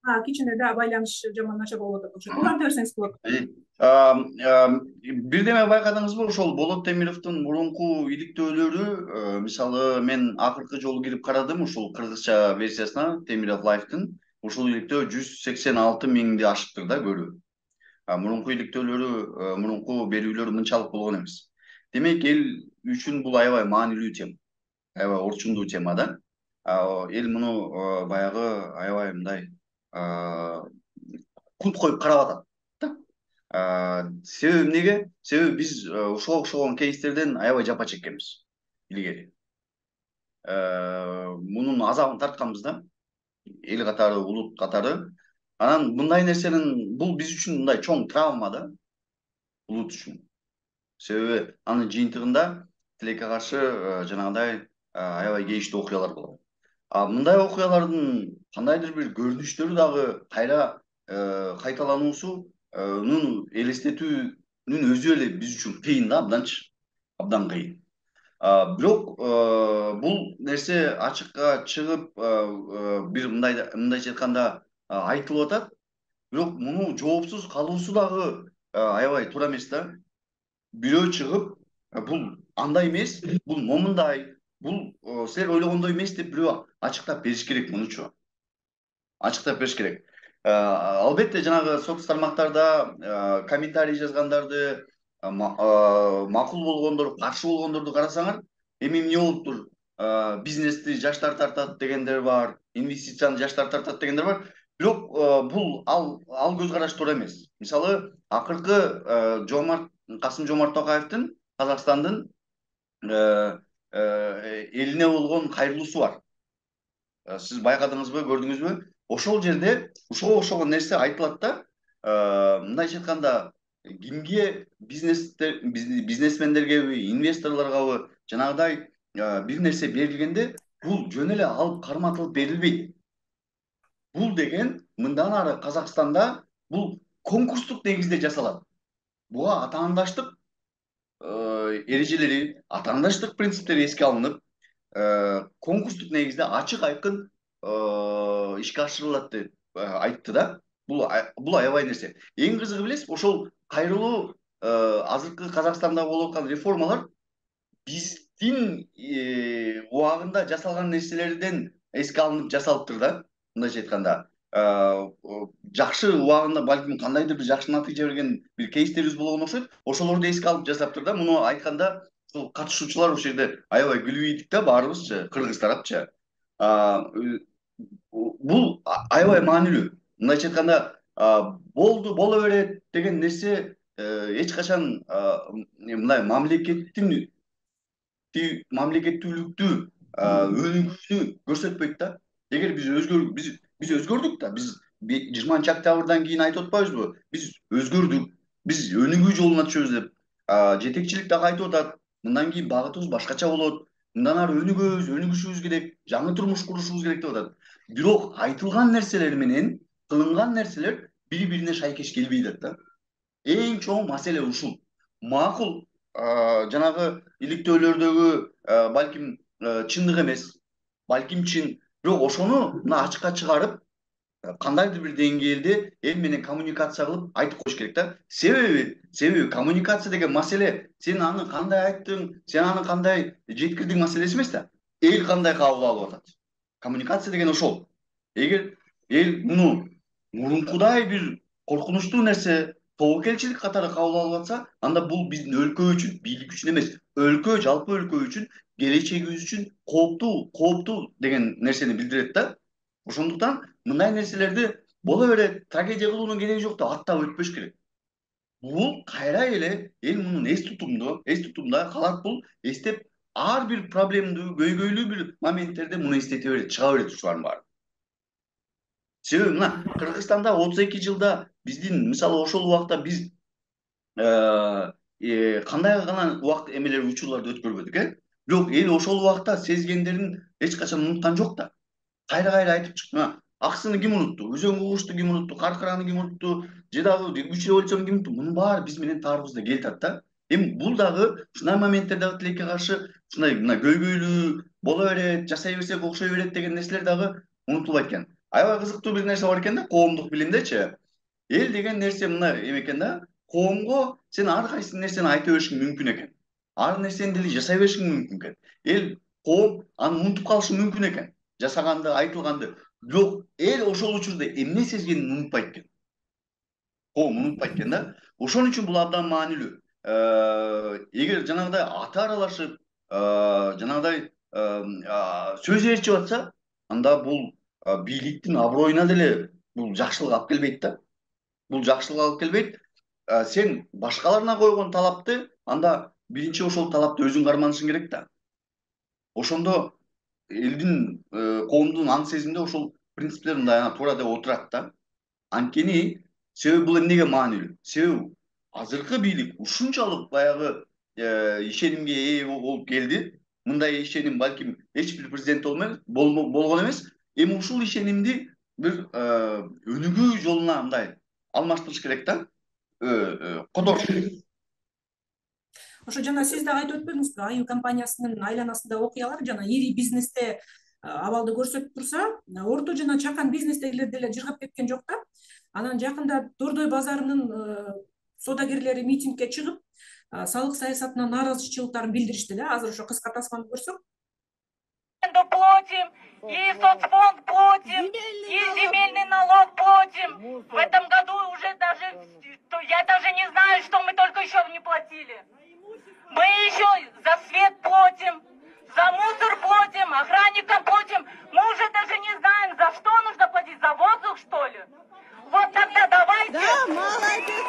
А, кичине да байланыш жаман начар болуп атат окшойт. Уланта берсеңиз болот. Бирдеме байкадыңызбы, ошол Болот Темировдун мурунку иликтөөлөрү, мисалы мен акыркы жолу кирип карадым ошол кыргызча версиясына Темиров Лайфтын. Ушул иликтөө жүз сексен алты миңди ашыптыр да көрүү. Мурунку иликтөөлөрү, мурунку берүүлөрү мынчалык болгон эмес. Демек, эл үчүн бул аябай маанилүү тема, аябай орчундуу тема да. Эл муну баягы аябай мындай култ коюп карап атат да. Себеби эмнеге? Себеби биз ошого окшогон кейстерден аябай жапа чеккенбиз илгери. Мунун азабын тартканбыз да. Эл катары, улут катары. Анан мындай нерсенин бул биз үчүн мындай чоң травма да, улут үчүн. Себеби анын жыйынтыгында тилекке каршы жанагындай аябай кейиштүү окуялар болот. А мындай окуялардын кандайдыр бир көрүнүштөрү дагы кайра кайталануусунун элестетүүнүн өзү эле биз үчүн кыйын да, абданчы, абдан кыйын. Бирок бул нерсе ачыкка чыгып бир мындайча айтканда айтылып атат. Бирок муну жоопсуз калуусу дагы аябай туура эмес да. Бирөө чыгып, бул андай эмес, бул момундай, бул силер ойлогондой эмес деп бирөө ачыктап бериш керек мунучу. Ачыктап бериш керек. Албетте жанагы соц тармактарда комментарий жазгандарды, макул болгондор, каршы болгондорду карасаңар, эми эмне болуптур? Бизнести жаштар тартат дегендер бар, инвестицияны жаштар тартат дегендер бар. Бирок бул ал ал көз караш туура эмес. Мисалы, акыркы Жомарт Касым Жомарт Токаевдин Казакстандын элине болгон кайрылуусу бар. Сиз байкадыңызбы, көрдүңүзбү? Ошол жерде ушуга окшогон нерсе айтылат да, мындайча айтканда, кимге бизнесмендергеби, инвесторлоргабы жанагыдай бир нерсе берилгенде, бул жөн эле алып карматылып берилбейт. Бул деген мындан ары Казакстанда бул конкурстук негизде жасалат. Буга атаандаштык эрежелери, атаандаштык принциптери эске алынып, конкурстук негизде ачык айкын ишке ашырылат деп айтты да. Бул бул аябай нерсе. Эң кызыгы билесизби, ошол кайрылуу азыркы Казакстанда болуп аткан реформалар биздин убагында жасалган нерселерден эске алынып жасалыптыр да. Мындайча айтканда, жакшы убагында балким кандайдыр бир жакшы натыйжа берген бир кейстерибиз болгон окшойт. Ошолорду эске алып жасаптыр да. Муну айтканда, ушул катышуучулар ошол жерде аябай күлүп ийдик да, баарыбызчы, кыргыз тарапчы. Бул аябай маанилүү. Мындайча айтканда, болду, боло берет деген нерсе эч качан мындай мамлекеттин мамлекеттүүлүктү өнүгүүнү көрсөтпөйт да. Эгер биз өзгөр биз биз өзгөрдүк да, биз жыйырманчы октябрдан кийин айтып атпайбызбы? Биз өзгөрдүк, биз өнүгүү жолуна түшөбүз деп. Жетекчилик дагы айтып атат. Мындан кийин багытыбыз башкача болот. Мындан ары өнүгөбүз, өнүгүшүбүз керек, жаңы турмуш курушубуз керек деп атат. Бирок айтылган нерселер менен кылынган нерселер бири-бирине шайкеш келбей жатат да. Эң чоң маселе ушул. Макул, жанагы иликтөөлөрдөгү балким чындык эмес. балким чын, бирок ошону мына ачыкка чыгарып, кандайдыр бир деңгээлде эл менен коммуникация кылып айтып коюш керек да. Себеби, себеби коммуникация деген маселе сен аны кандай айттың, сен аны кандай жеткирдиң маселеси эмес да. Эл кандай кабыл алып атат. Коммуникация деген ошол. Эгер эл муну мурункудай бир коркунучтуу нерсе, тобокелчилик катары кабыл алып атса, анда бул биздин өлкө үчүн, бийлик үчүн эмес, өлкө, жалпы өлкө үчүн, келечегибиз үчүн кооптуу, кооптуу деген нерсени билдирет да. Ошондуктан мындай нерселерди боло берет, трагедия кылуунун кереги жок да, аттап өтпөш керек. Бул кайра эле эл мунун эс тутумду, эс тутумда калат, бул эстеп ар бир проблемдүү, көйгөйлүү бир моменттерде муну эстете берет, чыга берет ушулардын баары. Себеби мына Кыргызстанда отуз эки жылда биздин, мисалы ошол убакта биз кандай гана убакыт эмелер, учурларды өткөрбөдүк, э? Бирок эл ошол убакта сезгендерин эч качан унуткан жок да. Кайра-кайра айтып чыкты. Аксыны ким унутту, Өзөн кугушту ким унутту, Каркыраны ким унутту, же дагы үч революцияны ким унутту? Мунун баары биз менен таарыбызда келатат да. Эми бул дагы ушундай моменттер дагы тилекке каршы ушундай мына көйгөйлүү боло берет, жасай берсек окшой берет деген нерселер дагы унутулбайт экен. Аябай кызыктуу бир нерсе бар экен да, коомдук билимдечи. Эл деген нерсе мына эме экен да, коомго сен ар кайсы нерсени айта беришиң мүмкүн экен. Ар нерсени деле жасай беришиң мүмкүн экен. Эл, коом аны унутуп калышы мүмкүн экен. Жасаганды, айтылганды. Бирок эл ошол учурда эмне сезгенин унутпайт экен. Коом унутпайт экен да. Ошон үчүн бул абдан маанилүү. Эгер жанагыдай аты аралашып, жанагыдай сөз ээрчип атса, анда бул бийликтин аброюна деле бул жакшылык алып келбейт да. Бул жакшылык алып келбейт. Сен башкаларына койгон талапты, анда биринчи ошол талапты өзүң карманышың керек да. Ошондо элдин, коомдун аң сезимде ошол принциптер мындай туура деп отурат да. Анткени себеби бул эмнеге маанилүү? Себеби азыркы бийлик ушунчалык баягы ишенимге ээ болуп келди. Мындай ишеним балким эч бир президент болгон эмес. Эми ушул ишенимди бир өнүгүү жолуна мындай алмаштырыш керек да. Кодоруш керек. Ошо жана сиз дагы айтып өтпөдүңүзбү? Аю компаниясынын айланасында окуялар жана ири бизнесте абалды көрсөтүп турса, орто жана чакан бизнестегилер деле жыргап кеткен жок да. Анан жакында Дордой базарынын соодагерлери митингге чыгып, салык саясатына нааразычылыктарын билдиришти да. Азыр ошо кыска тасманы көрсөк. Платим, и соцфонд платим, и земельный налог платим. В этом году уже даже, я даже не знаю, что мы только еще не платили. Мы еще за свет платим, за мусор платим, охранникам платим. Мы уже даже не знаем, за что нужно платить, за воздух, что ли? Вот тогда давайте... Да, молодец!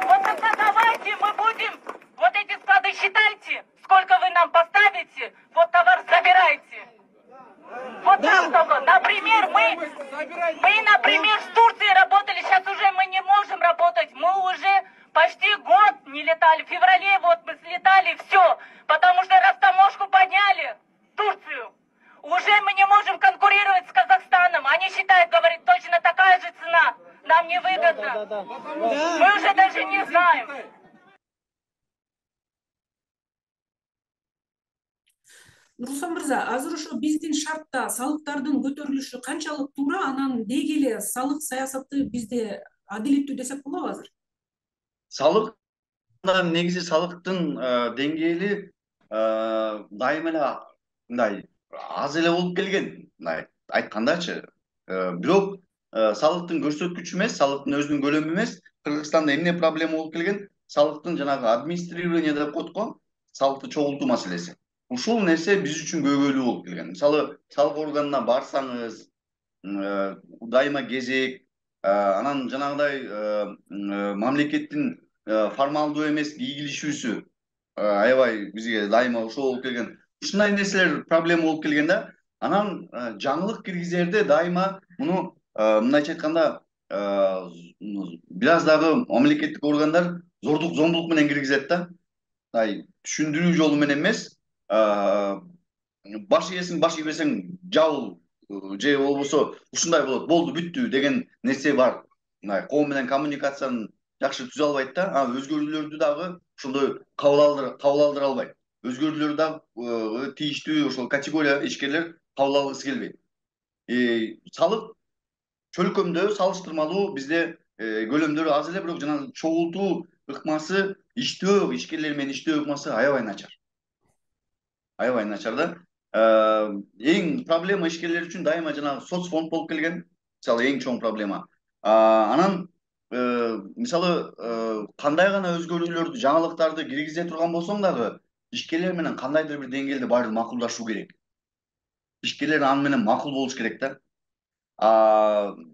Вот тогда давайте мы будем... Вот эти склады считайте, сколько вы нам поставите, вот товар забирайте. Вот так только. Например, мы, мы, например, с Турцией работали, сейчас уже мы не можем работать. Мы уже почти год не летали. В феврале вот мы слетали, все. Потому что растаможку подняли, Турцию. Уже мы не можем конкурировать с Казахстаном. Они считают, говорит, точно такая же цена. Нам невыгодно. Да, да, да, да. Мы уже даже не знаем. Руслан мырза, азыр ошо биздин шартта салыктардын көтөрүлүшү канчалык туура, анан деги эле салык саясаты бизде адилеттүү десек болобу азыр? Салык негизи салыктын деңгээли дайыма эле мындай аз эле болуп келген, мындай айткандачы. Бирок салыктын көрсөткүчү эмес, салыктын өзүнүн көлөмү эмес. Кыргызстанда эмне проблема болуп келген? Салыктын жанагы администрирование деп коет го, салыкты чогултуу маселеси. Ушул нерсе биз үчүн көйгөйлүү болуп келген. Мисалы, салык органына барсаңыз, дайыма кезек, анан жанагыдай мамлекеттин формалдуу эмес ийгилишүүсү аябай бизге дайыма ошол болуп келген. Ушундай нерселер проблема болуп келген да. Анан жаңылык киргизерде дайыма муну мындайча айтканда бир аз дагы мамлекеттик органдар зордук зомбулук менен киргизет да. Түшүндүрүү жолу менен эмес, баш ийесиң, баш ийбесең жабыл, же болбосо ушундай болот, болду бүттү деген нерсе бар. Коом менен коммуникацияны жакшы түзө албайт да, өзгөрүүлөрдү дагы ошондой кабыл алдыра албайт. өзгөрүүлөр дагы тийиштүү ошол категория ишкерлер кабыл алгысы келбейт. Салык чөлкөмдө салыштырмалуу бизде көлөмдөрү аз эле, бирок жана чогултуу ыкмасы, иштөө ишкерлер менен иштөө ыкмасы аябай начар. Аябай начар да. Эң проблема ишкерлер үчүн дайыма жанагы соцфонд болуп келген. Мисалы эң чоң проблема. Анан мисалы кандай гана өзгөрүүлөрдү, жаңылыктарды киргизе турган болсоң дагы ишкерлер менен кандайдыр бир деңгээлде баары макулдашуу керек. Ишкерлер аны менен макул болуш керек да.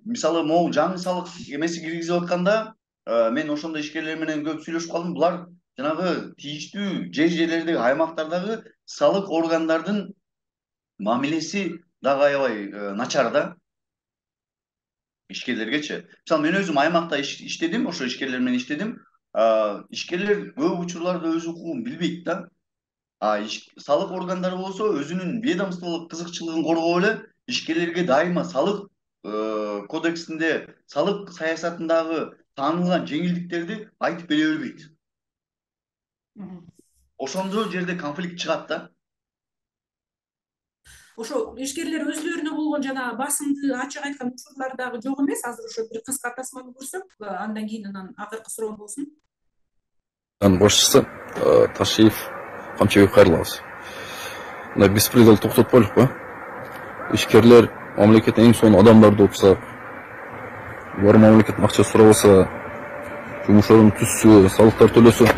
Мисалы могу жаңы салык эмеси киргизип атканда мен ошондо ишкерлер менен көп сүйлөшүп калдым. Булар жанагы тийиштүү жер жерлердеги аймактардагы салык органдардын мамилеси дагы аябай начар да. Ишкерлергечи. Мисалы мен өзүм аймакта иштедим, ошо ишкерлер менен иштедим. Ишкерлер көп учурларда өз укугун билбейт да. Салык органдары болсо өзүнүн ведомстволук кызыкчылыгын коргоп эле ишкерлерге дайыма салык кодексинде, салык саясатындагы таанылган жеңилдиктерди айтып бере бербейт. Ошондо жерде конфликт чыгат да. Ошо ишкерлер өзлөрүнө болгон жана басымды ачык айткан учурлар дагы жок эмес. Азыр ошо бир кыска тасманы көрсөк, андан кийин анан акыркы суроо болсун. Башчысы Ташиев Камчыбек кайрылабыз. Мына беспредел токтотпойлукпу? Ишкерлер мамлекеттен эң сонун адамдарды отса, булар мамлекеттен акча сурабаса, жумуш ордун түзсө, салыктар төлөсө,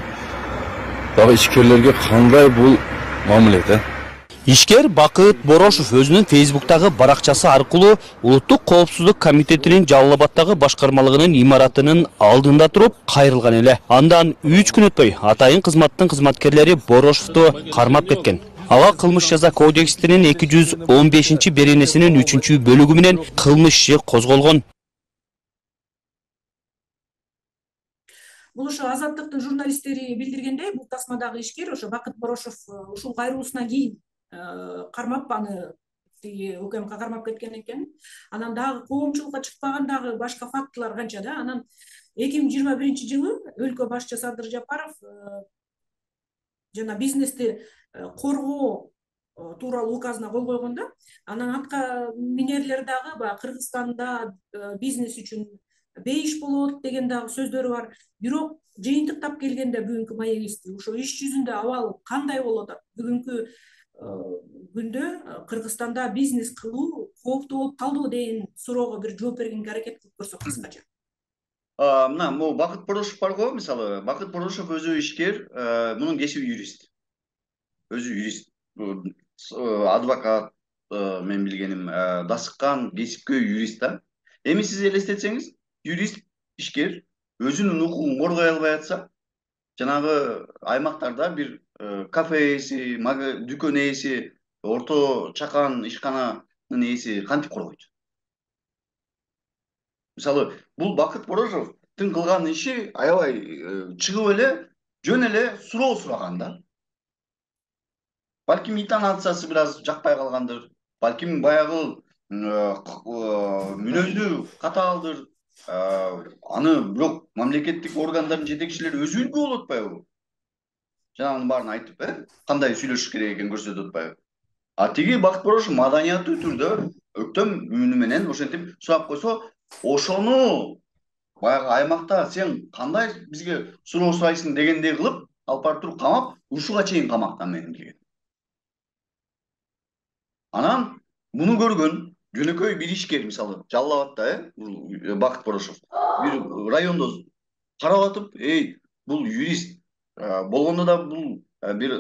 дагы ишкерлерге кандай бул мамиле? Ишкер Бакыт Борошов өзүнүн Фейсбуктагы баракчасы аркылуу Улуттук коопсуздук комитетинин Жалал Абаддагы башкармалыгынын имаратынын алдында туруп кайрылган эле. Андан үч күн өтпөй атайын кызматтын кызматкерлери Борошовду кармап кеткен. Ага кылмыш жаза кодексинин эки жүз он бешинчи беренесинин үчүнчү бөлүгү менен кылмыш иши козголгон. Бул ошо Азаттыктын журналисттери билдиргендей, бул тасмадагы ишкер ошо Бакыт Борошов ушул кайрылуусунан кийин кармап аны тиги УКМК кармап кеткен экен. Анан дагы коомчулукка чыкпаган дагы башка фактылар канча да. Анан эки миң жыйырма биринчи жылы өлкө башчы Садыр Жапаров жана бизнести коргоо тууралуу указына кол койгон да. Анан атка минерлер дагы баягы Кыргызстанда бизнес үчүн бейиш болот деген дагы сөздөрү бар. Бирок жыйынтыктап келгенде бүгүнкү маегибизди ошо иш жүзүндө абал кандай болот? Бүгүнкү күндө Кыргызстанда бизнес кылуу кооптуу болуп калдыбы деген суроого бир жооп бергенге аракет кылып көрсөк кыскача. Мына, могу Бакыт Борошов барго, мисалы, Бакыт Борошов өзү ишкер, мунун кесиби юрист. Өзү юрист, адвокат, мен билгеним, дасыккан кесипкөй юрист да. Эми сиз элестетсеңиз, юрист, ишкер өзүнүн укугун коргой албай атса, жанагы аймактарда бир кафе ээси, дүкөн ээси, орто чакан ишкананын ээси кантип коргойт? Мисалы, бул Бакыт Борошовдун кылган иши аябай чыгып эле, жөн эле суроо сураган да. Балким интонациясы бир аз жакпай калгандыр, балким баягы мүнөзү катаалдыр. Аны бирок мамлекеттик органдардын жетекчилери өзү үлгү болуп атпайбы? Жанагынын баарын айтып, э, кандай сүйлөшүш керек экенин көрсөтүп атпайбы? А тиги Бакыт Борошов маданияттуу түрдө өктөм үнү менен ошентип сурап койсо, ошону баягы аймакта сен кандай бизге суроо сурайсың дегендей кылып, алып барып туруп камап, ушуга чейин камактан менин деген. Анан муну көргөн жөнөкөй бир ишкер, мисалы, Жалал Абадта, э, Бакыт Борошов бир райондо карап атып, эй, бул юрист болгондо да бул бир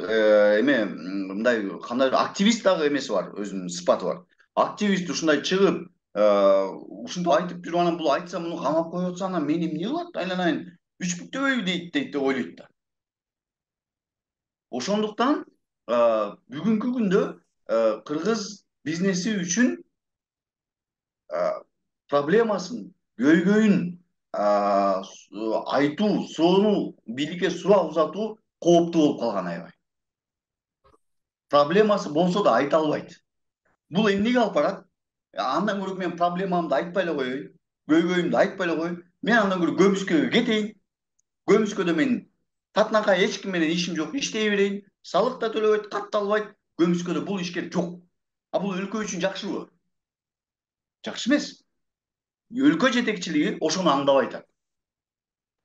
эме мындай кандай активист дагы эмеси бар, өзүнүн сыпаты бар. Активист ушундай чыгып, ушинтип айтып жүрүп, анан бул айтса муну камап коюп атса, анан мени эмне кылат? Айланайын үч бүктөбөйбү дейт дейт деп ойлойт да. Ошондуктан бүгүнкү күндө кыргыз бизнеси үчүн проблемасын, көйгөйүн айтуу, соону бийликке суроо узатуу кооптуу болуп калган аябай. Проблемасы болсо да айта албайт. Бул эмнеге алып барат? Андан көрө мен проблемамды айтпай эле коеюн, көйгөйүмдү айтпай эле коеюн. Мен андан көрө көмүскөгө кетейин. Көмүскөдө мен татынакай эч ким менен ишим жок, иштей берейин. салык да төлөбөйт, катталбайт, көмүскөдө бул ишкер жок. А бул өлкө үчүн жакшыбы? Жакшы эмес. Өлкө жетекчилиги ошону аңдабай атат.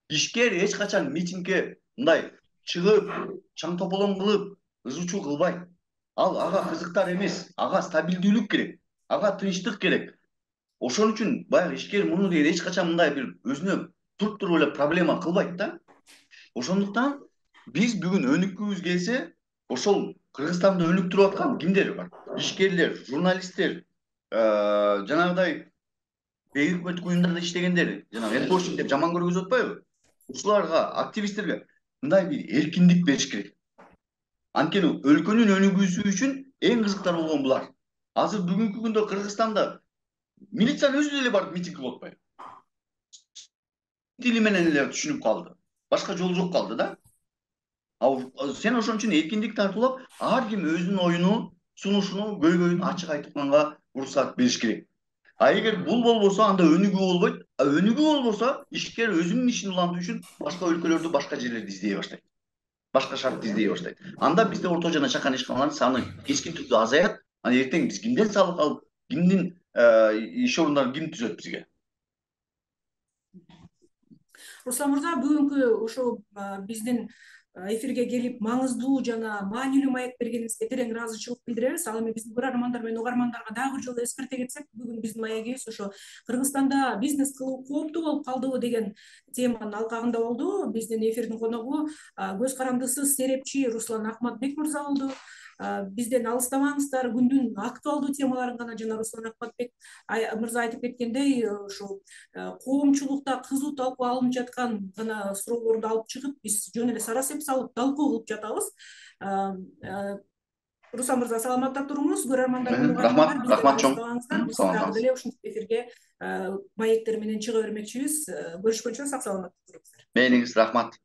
Ишкер эч качан митингге мындай чыгып, чаң тополоң кылып, ызы-чуу кылбайт. Ал ага кызыктар эмес, ага стабилдүүлүк керек, ага тынчтык керек. Ошон үчүн баягы ишкер муну дейт, эч качан мындай бир өзүнө туруп туруп эле проблема кылбайт да. Ошондуктан биз бүгүн өнүккүбүз келсе, ошол Кыргызстанды өнүктүрүп аткан кимдер бар? Ишкерлер, журналисттер, жанагыдай бейөкмөттүк уюмдарда иштегендер, жанагы энпошник деп жаман көргөзүп атпайбы? Ушуларга, активисттерге мындай бир эркиндик бериш керек. Анткени өлкөнүн өнүгүүсү үчүн эң кызыктар болгон булар. Азыр бүгүнкү күндө Кыргызстанда милициянын өзү деле барып митинг кылып атпайбы? Тили менен эле түшүнүп калды. Башка жол жок калды да. Сен ошон үчүн эркиндик тартуулап, ар ким өзүнүн оюну, сунушуну, көйгөйүн ачык айтканга уруксат бериш керек. А эгер бул болбосо, анда өнүгүү болбойт. А өнүгүү болбосо, ишкер өзүнүн ишин улантуу үчүн башка өлкөлөрдү, башка жерлерди издей баштайт. Башка шартты издей баштайт. Анда бизде орто жана чакан ишканалардын саны кескин түрдө азаят. Ана эртең биз кимден салык алып, кимдин иш орундарын ким түзөт бизге? Руслан мырза, бүгүнкү ошо биздин эфирге келип маңыздуу жана маанилүү маек бергениңизге терең ыраазычылык билдиребиз. Ал эми биздин көрөрмандар менен угармандарга дагы бир жолу эскерте кетсек, бүгүн биздин маегибиз ошо Кыргызстанда бизнес кылуу кооптуу болуп калдыбы деген теманын алкагында болду. Биздин эфирдин коногу көз карандысыз серепчи Руслан Акматбек мырза болду. Бизден алыстабаңыздар, күндүн актуалдуу темаларын гана жана Руслан Акматбек мырза айтып кеткендей, ошо коомчулукта кызуу талкуу алынып жаткан гана суроолорду алып чыгып, биз жөн эле сарасеп салып талкуу кылып жатабыз. Руслан мырза, саламатта туруңуз. Көрөрмандар менен рахмат, рахмат чоң. Биз дагы деле ушинтип эфирге маектер менен чыга бермекчибиз. Көрүшкөнчө сак саламатта туруңуздар. Мээңиз рахмат.